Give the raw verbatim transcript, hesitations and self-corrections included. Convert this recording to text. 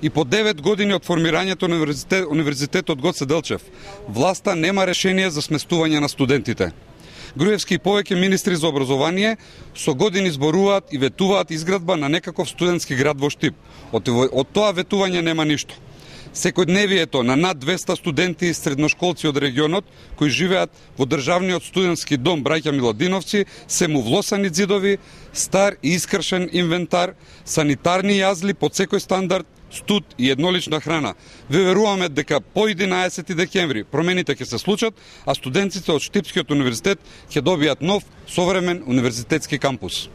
И по девет години од формирањето на универзитет, универзитетот Гоце Делчев, власта нема решение за сместување на студентите. Груевски и повеќе министри за образование со години зборуваат и ветуваат изградба на некаков студентски град во Штип. Од, од тоа ветување нема ништо. Секојдневието на над двеста студенти и средношколци од регионот кои живеат во државниот студентски дом Браќа Миладиновци се му влосани ѕидови, стар и искршен инвентар, санитарни јазли под секој стандард, студ и еднолична храна. Ве веруваме дека по единаесети декември промените ќе се случат, а студентите од Штипскиот универзитет ќе добијат нов, современ универзитетски кампус.